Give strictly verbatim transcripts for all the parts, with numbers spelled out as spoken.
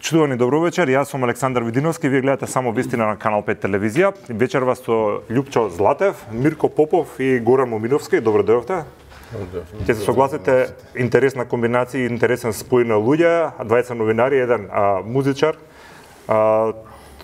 Почитувани добро вечер, јас сум Александар Видиновски, вие гледате само вистина на Канал пет телевизија. Вечерва со Љупчо Златев, Мирко Попов и Горан Моминовски. Добро дојдовте. Ќе се согласите, интересна комбинација, интересен спој на луѓе, дваесет новинари, еден а, музичар. А,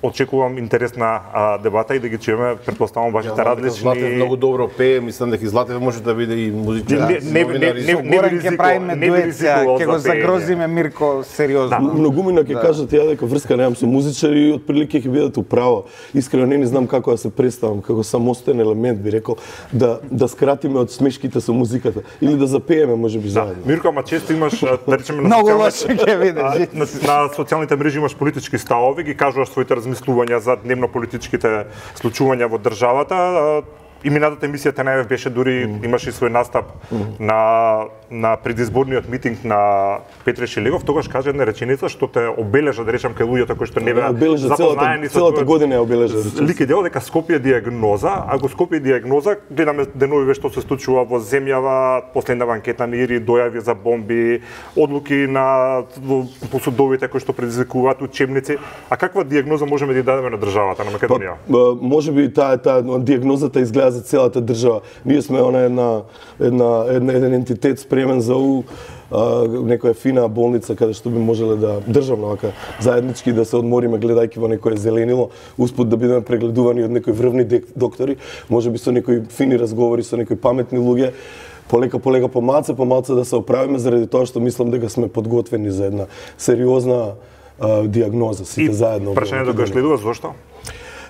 Очекувам интересна а, дебата и да ги чуеме, предпоставам вашите ja, различни. Златев многу добро пее, мислам дека Златев може да биде и музичар. Не, не, не, не, не, Горан ќе правиме дует, ќе го загрозиме Мирко сериозно. Многумина ќе кажат ја дека врска немам со музичари и отприлике ќе бидат управо. Искрено не, не знам како да се представам, како самостоен елемент би рекол, да да скратиме од смешките со музиката или да запееме можеби заедно. Мирко, ама често имаш, да речеме, на Многу социјалните, лошо ќе видиш. на, на социјалните мрежи имаш политички ставови, ги кажуваш своите размислувања за дневно политичките случувања во државата. И минатата емисија ТНВ беше дури mm. имаше и свој настап mm. на на предизборниот митинг на Петре Шилегов, тогаш кажа една реченица што те обележа, да речам, кај луѓето кои што не беа запознаени со целата година е обележа. Лик и дел дека Скопје диагноза, а го Скопје диагноза гледаме денови што се случува во земјава, последнава анкета на Ири, дојави за бомби, одлуки на по судовите кои што предизвикуваат учебници. А каква диагноза можеме да дадеме на државата на Македонија? Па, можеби таа таа диагнозата изгледа за целата држава. Ние сме она една една една еден ентитет спремен за у а, некоја фина болница каде што би можеле да државно вака заеднички да се одмориме гледајќи во некое зеленило, успут да бидеме прегледувани од некои врвни доктори, можеби со некои фини разговори со некои паметни луѓе. Полека, полека, помалце, помалце да се оправиме заради тоа што мислам дека сме подготвени за една сериозна а, диагноза сите и заедно. Прашањето го следува зошто?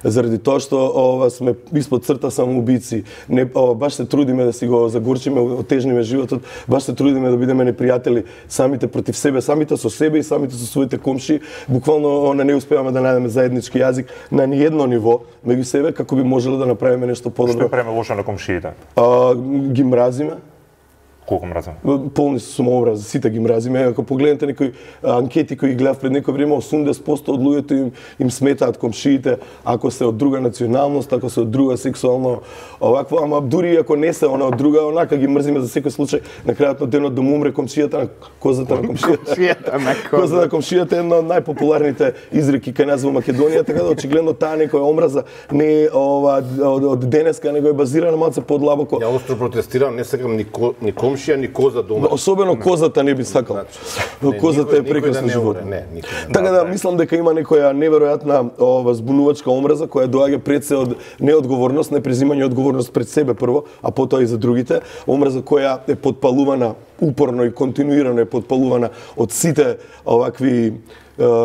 Заради тоа што ова сме испод црта самоубици. Не ова баш се трудиме да си го загорчиме, отежниме животот, баш се трудиме да бидеме непријатели самите против себе, самите со себе и самите со своите комши. Буквално не успеваме да најдеме заеднички јазик на ниедно ниво меѓу себе како би можеле да направиме нешто подобро. Што правиме лошо на комшиите? А, ги мразиме. Колку мразиме? Полни се самообрази, сите ги мразиме. Ако погледнете некои анкети кои гледав пред некој време, осумдесет проценти од луѓето им, им сметаат комшиите ако се од друга националност, ако се од друга сексуално овакво, ама дури ако не се она од друга, онака ги мрзиме за секој случај. На крајот на денот да му умре комшијата на козата на комшијата. Комшијата на козата. Козата на комшијата е една од најпопуларните изреки кај нас во Македонија, така да очигледно таа некоја омраза не е ова од, од денеска, него е базирана малце подлабоко. Ја остро протестирам, не сакам ни, ко, ни комшија, ни коза дома. Особено козата не би сакал. Не, козата никој, е прекрасно да животно. Не, никој. Така да мислам дека има некоја неверојатна ова збунувачка омраза која доаѓа пред се од неодговорност, непрезимање одговорност пред себе прво, а потоа и за другите. Омраза која е подпалувана упорно и континуирано е подпалувана од сите овакви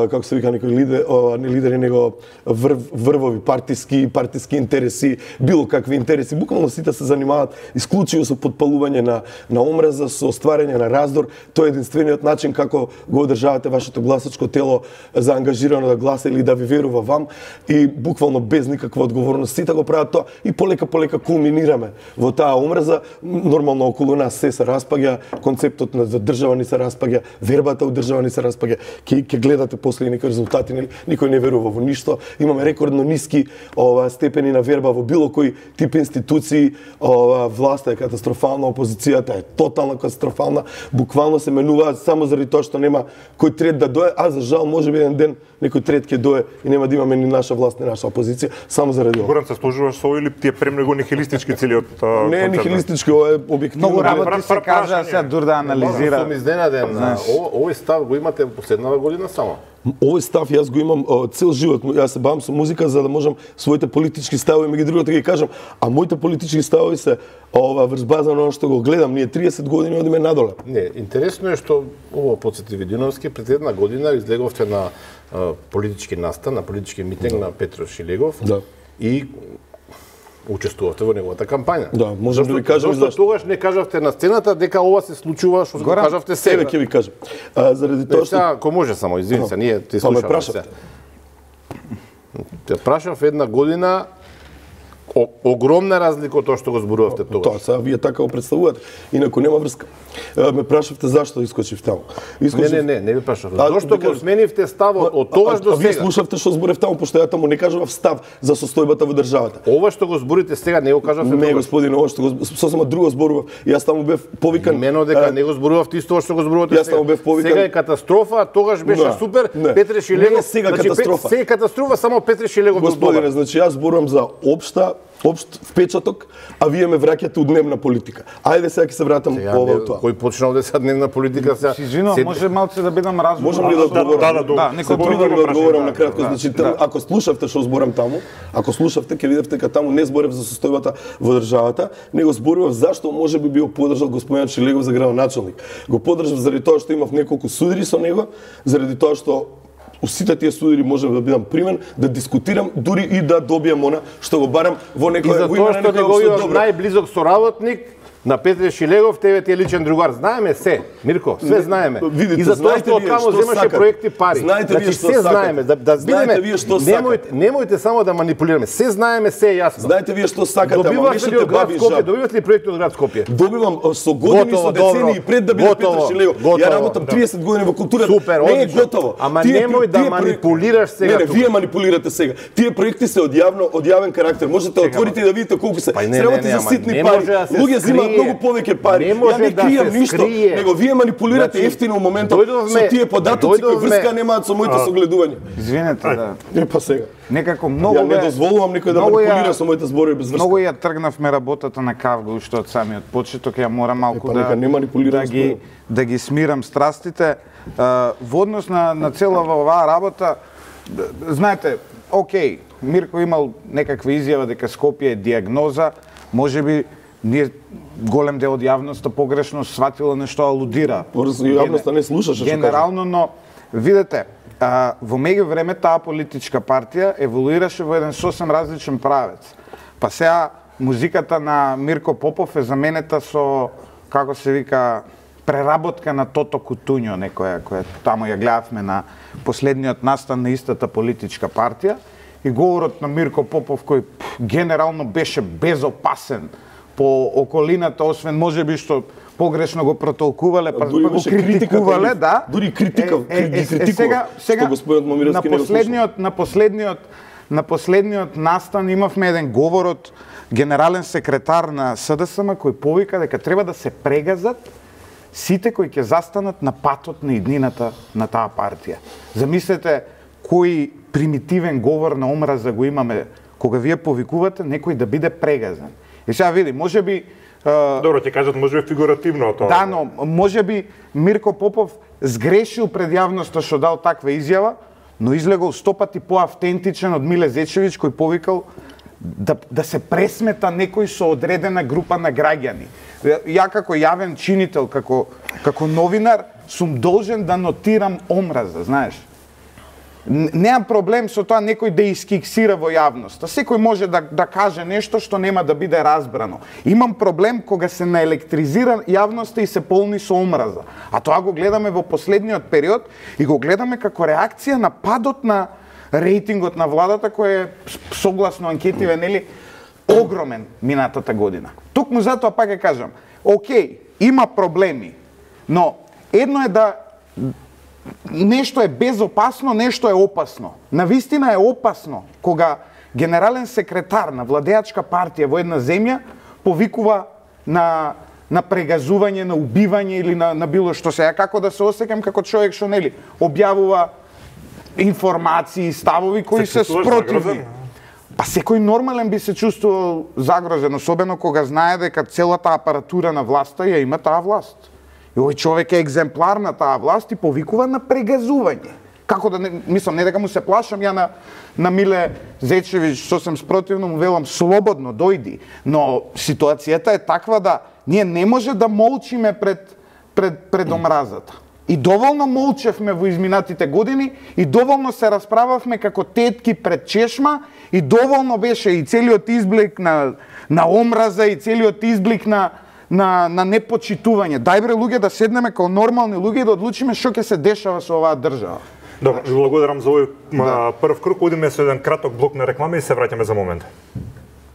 како се вика некои лидер, не лидери, него врв, врвови партиски, партиски интереси, било какви интереси. Буквално сите се занимаваат исклучиво со подпалување на на омраза, со стварање на раздор. Тоа е единствениот начин како го одржавате вашето гласачко тело заангажирано да гласа или да ви верува вам и буквално без никаква одговорност сите го прават тоа и полека полека кулминираме во таа омраза. Нормално околу нас се се распаѓа, концептот на за држава ни се распаѓа, вербата од држава ни се распаѓа. Ке ке гледате после некои резултати, нели? Никој не верува во ништо. Имаме рекордно ниски ова степени на верба во било кој тип институции. Ова власта е катастрофална, опозицијата е тотално катастрофална. Буквално се менуваат само заради тоа што нема кој трет да дое, а за жал можеби еден ден некој трет ќе дое и нема да имаме ни наша власт, ни наша опозиција, само заради ова. Горан, се сложуваш со или ти е премногу нихилистички целиот концепт? Не е нихилистички, ова е објективно. Многу работи се кажа, сега дур да анализира. Сум изненаден. Овој став го имате последнава година само. Овој став јас го имам о, цел живот. Јас се бавам со музика за да можам своите политички ставови меѓу другото да ги кажам, а моите политички ставови се ова врз база на оно што го гледам. Ние триесет години одиме надоле. Не, интересно е што ово подсети Видиновски пред една година излеговте на а, политички настан, на политички митинг да. на Петро Шилегов. Да. И учествувавте во неговата кампања. Да, можам да ви кажам зашто. Зашто тогаш не кажавте на сцената дека ова се случува што го кажавте сега? Сега ќе ви кажам. А, заради тоа што ако може само, извини се, ние те слушаме се. Те прашав една година О, огромна разлика од тоа што го зборувавте тогаш. Тоа сега вие така го представувате. Инаку нема врска. Ме прашавте зашто искочив таму. Искочив... Не, не, не, не ви прашав. Зошто го сменивте ставот од тогаш до сега? А вие слушавте што зборев таму, пошто ја таму не кажував став за состојбата во државата. Ова што го зборите сега не го кажавте тогаш. Не, господине, ова што го сосема друго зборував. Јас таму бев повикан. Имено дека не го зборувавте исто што го зборувате сега. Јас таму бев повикан. Сега е катастрофа, тогаш беше супер. Петре Шилегов. Сега катастрофа. Сега катастрофа, само Петре Шилегов го зборува. Господине, значи јас зборувам за општа општ впечаток, а вие ме враќате у дневна политика. Ајде сега ќе се вратам ова тоа. Кој почнал да се дневна политика сега? Си извинувам, може малце да бидам разумен. Можам ли да одговорам? Да, да, да. Некој Се трудам да одговорам на кратко, значи ако слушавте што зборам таму, ако слушавте ќе видите дека таму не зборев за состојбата во државата, него зборував зашто можеби био поддржал господинот Шилегов за градоначалник. Го поддржав заради тоа што имав неколку судири со него, заради тоа што у сите тие судири можам да бидам примен, да дискутирам, дури и да добијам она што го барам во некој... И за тоа што неговиот најблизок соработник на Петре Шилегов, тебе ти е личен другар. Знаеме се, Мирко, све знаеме. Видите, и за тоа што таму земаше проекти пари. Знаете значи, вие што се сакате. знаеме, да, да Знаете бидеме, вие што немојте, немојте само да манипулираме. Се знаеме, се е јасно. Знаете вие што сакате, ама Добивате ли мишите од град баби Скопје? жаб. Добивате ли проекти од град Скопје? Добивам со години, Готово, со децении добро. пред да биде Готово, Петар Шилегов. готово. Ја работам триесет години во културата. Супер, не е одлично. готово. Ама Тие- немој да тие проекти- манипулираш сега Не, не, тука. вие манипулирате сега. Тие проекти се од јавно, од јавен карактер. Можете да отворите и да видите колку се. Па не, Сработи не, не, за ама ситни не пари. може да се Луѓе земаат скрие. многу повеќе пари. Не може Ја не да кријам се ништо, скрие. него вие манипулирате Значи, ефтино моментот дојдовме- со тие податоци кои дојдовме- врска немаат со моите согледувања. Извинете, да. Не па сега. Некако многу Ја не бе- дозволувам никој да многу ја- манипулира со моите зборови без врска. Многу ја тргнавме работата на Кавга уште од самиот почеток, ја морам малку Е, па да нека не манипулирам да ги зборов. да ги смирам страстите. А, во однос на на целава оваа работа, д- знаете, окей, Мирко имал некаква изјава дека Скопје е диагноза, можеби ние голем дел од јавноста погрешно сватила нешто алудира. Просто јавноста не слушаше што Генерално, но видете, а, во меѓувреме таа политичка партија еволуираше во еден сосем различен правец. Па сега музиката на Мирко Попов е заменета со, како се вика, преработка на Тото Кутуњо, некоја која таму ја гледавме на последниот настан на истата политичка партија, и говорот на Мирко Попов кој пф, генерално беше безопасен по околината, освен можеби што погрешно го протолкувале, па, Дури па го беше критикувале, критика, да. дури критика, Е, е, е, ги е, критикува, сега, сега што господинот Момировски на не го последниот, на последниот, на последниот настан имавме еден говор од генерален секретар на СДСМ кој повика дека треба да се прегазат сите кои ќе застанат на патот на иднината на таа партија. Замислете кој примитивен говор на омраза го имаме кога вие повикувате некој да биде прегазен. И сега види, можеби Добро, ќе кажат можеби фигуративно тоа. да, но можеби Мирко Попов сгрешил пред јавноста што дал таква изјава, но излегол сто пати поавтентичен од Миле Зечевиќ кој повикал да, да се пресмета некој со одредена група на граѓани. Ја како јавен чинител, како, како новинар, сум должен да нотирам омраза, знаеш. Немам проблем со тоа некој да искиксира во јавноста. Секој може да, да каже нешто што нема да биде разбрано. Имам проблем кога се наелектризира јавноста и се полни со омраза. А тоа го гледаме во последниот период и го гледаме како реакција на падот на рейтингот на владата кој е согласно анкетиве, нели, огромен минатата година. Токму затоа пак ќе кажам, окей, има проблеми, но едно е да нешто е безопасно, нешто е опасно. Навистина е опасно кога генерален секретар на владеачка партија во една земја повикува на на прегазување, на убивање или на, на било што. Сега како да се осеќам како човек што нели објавува информации, ставови кои се, се спротивни. Па секој нормален би се чувствувал загрозен, особено кога знае дека целата апаратура на власта ја има таа власт. И овој човек е екземплар на таа власт и повикува на прегазување. Како да не, мислам, не дека му се плашам, ја на, на Миле Зечевиќ сосем спротивно му велам слободно, дојди. Но ситуацијата е таква да ние не може да молчиме пред, пред, пред омразата. И доволно молчевме во изминатите години, и доволно се расправавме како тетки пред чешма, и доволно беше и целиот изблик на, на омраза, и целиот изблик на на на непочитување. Дај бре луѓе да седнеме како нормални луѓе и да одлучиме што ќе се дешава со оваа држава. Добро, ви благодарам за овој да. прв круг. Одиме со еден краток блок на реклама и се враќаме за момент.